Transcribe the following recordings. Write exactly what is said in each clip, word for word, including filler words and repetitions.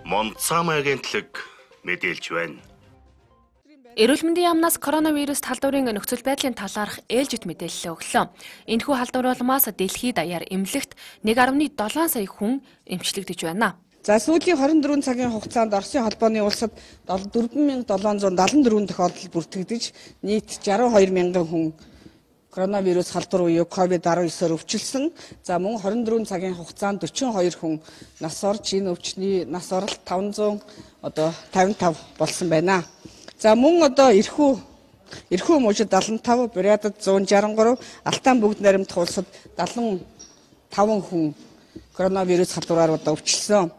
Монцам агентлаг мэдээлж байна. Эрүүл мэндийн яамнаас коронавирус талдварын нөхцөл байдлын талаарх ээлжид мэдээлэл өглөө. Энэхүү халдвар улмаас дэлхийд даяар эмнэлэгт нэг дасалж долоо сая хүн эмчлэгдэж байна. За сүүлийн хорин дөрвөн цагийн хугацаанд Оросын холбооны улсад дөрвөн мянга долоон зуун даатан дөрвөн тохиолдол бүртгэгдэж нийт жаруу хоёр мянган хүн коронавирус халдвар буюу ковид дасав девятоор өвчлсөн. За мөн хорин дөрвөн цагийн хугацаанд дөрвөн хоёр хүн нас орж энэ өвчний нас оролт таван зуун одоо тавин тав болсон байна. За мөн одоо эрхүү эрхүү мужид даалан тав, Бурятад зуун жарган гурав, Алтан бүгд наримдах улсад даалан таван хүн коронавирус халдвараар одоо өвчлсөн.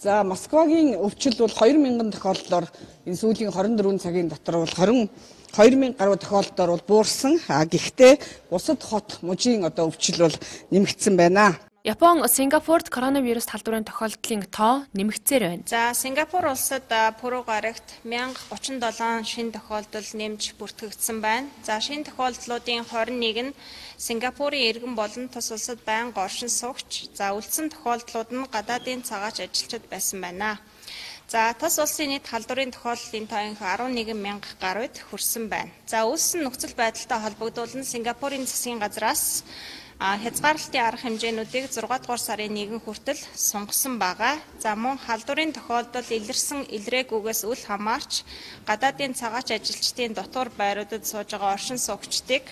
За Москвагийн өвчил бол хоёр мянган тохиолдлоор энэ сүүлийн хорин дөрвөн цагийн дотор бол хоёр мянга гаруй тохиолдолд бол буурсан. А гэхдээ бусад хот мужийн одоо өвчил бол нэмэгдсэн байна. Япон, Сингапурт коронавирус халдварын тохиолдлын тоо нэмэгдсээр байна. За Сингапур улсад пүрэв гарагт мянга гучин долоон шинэ тохиолдол нэмж бүртгэгдсэн байна. За шинэ тохиолдлуудын хорин нэг нь Сингапурын иргэн болон тус улсад байнга оршин суугч. За үлдсэн тохиолдлууд нь гадаадын цагаач ажилчид байсан байна. За тус улсын нийт халдварын тохиолдлын тоо арван нэгэн мянга гаруйд хүрсэн байна. За үүссэн нөхцөл байдалтай холбогдуулан Сингапурын засгийн газраас хязгаарлалтын арга хэмжээнүүдийг зургаадугаар сарын нэгэн хүртэл сунгасан байгаа. За мөн халдварын тохиолдол илэрсэн илрээгүйгээс үл хамаарч гадаадын цагаач ажилчдын дотор байруудад сууж байгаа оршин суугчдыг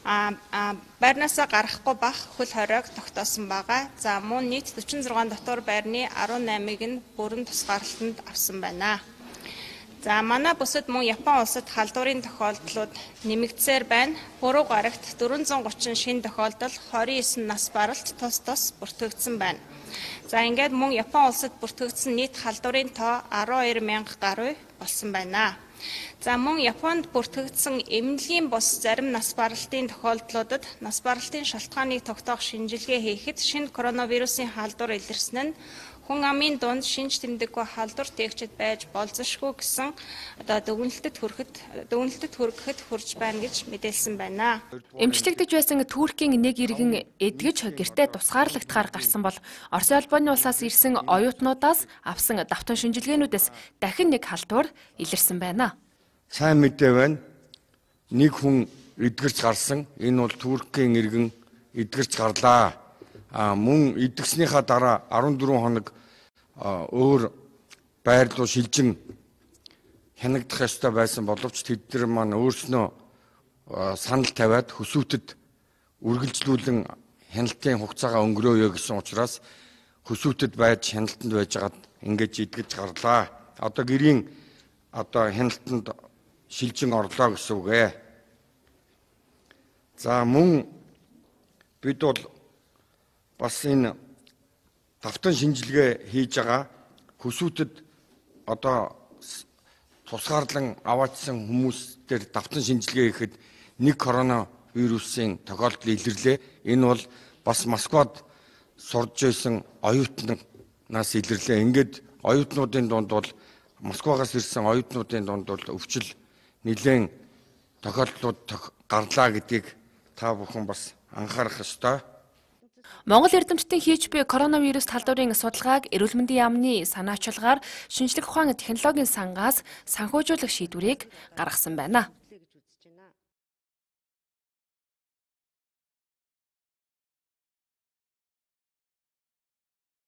байрнаасаа гарахгүй бах хөл хориог тогтоосон байгаа. За мөн нийт дөрвөн зургаан дотор байрны арван наймыг нь бүрэн тусгаарлалтанд авсан байна. За манай бүсэд мөн Япон улсад халдварын тохиолдлууд нэмэгдсээр байна. Пүрэв гарагт дөрвөн зуун гучин шинэ тохиолдол хорин девять нас баралт тус тус бүртгэгдсэн байна. За ингээд мөн Япон улсад бүртгэгдсэн нийт халдварын тоо арван хоёр мянга гаруй болсон байна. За мөн Японд бүртгэгдсэн эмнэлгийн бус зарим нас баралтын тохиолдлуудад нас баралтын шалтгааныг тогтоох шинжилгээ хийхэд шинэ коронавирусын халдвар илэрсэн нь хүн амын дунд шинж тэмдэггүй халдвар тээгчид байж болзошгүй гэсэн одоо дүгнэлтэд хүрэхэд дүгнэлтэд хүрэхэд хүрч байна гэж мэдээлсэн байна. Эмчлэгдэж байсан Туркийн нэг иргэн эдгэж гэртээ тусгаарлагдахаар гарсан бол Оросын холбооны улсаас ирсэн оюутнуудаас авсан давтан шинжилгээнүүдээс дахин нэг халдвар илэрсэн байна. Сайн мэдээ байна. Нэг хүн эдгэрч гарсан. Энэ бол Туркийн иргэн эдгэрч гарлаа. А мөн эдгснийхаа дараа арван дөрвөн хоног өөр байр руу шилжин хянагдах ёстой байсан боловч тэд нар маань өөрснөө санал тавиад хөсөөтөд үргэлжлүүлэн хяналтын хугацаагаа өнгөрөөё гэсэн учраас хөсөөтөд байж хяналтанд байжгаад ингэж эдгэж гарлаа. Одоо гэрийн одоо хяналтанд шилжин орлоо гэсэн үг ээ. За мөн бид бол бас энэ давтан шинжилгээ хийж байгаа хөсөөтөд одоо тусгаарлан аваачсан хүмүүс дээр давтан шинжилгээ хийхэд нэг коронавирусын тохиолдол илэрлээ. Энэ бол бас Москвад сурж байсан оюутнаас илэрлээ. Ингээд оюутнуудын дунд бол Москвагаас ирсэн оюутнуудын дунд бол өвчил нэлээд тохиолдлууд гарлаа гэдгийг та бүхэн бас анхаарах ёстой. Монгол эрдэмтдийн хийж буй коронавирус талдварын судалгааг эрүүл мэндийн яамны санаачилгаар шинжлэх ухааны технологийн сангаас санхүүжүүлэх шийдвэрийг гаргасан байна.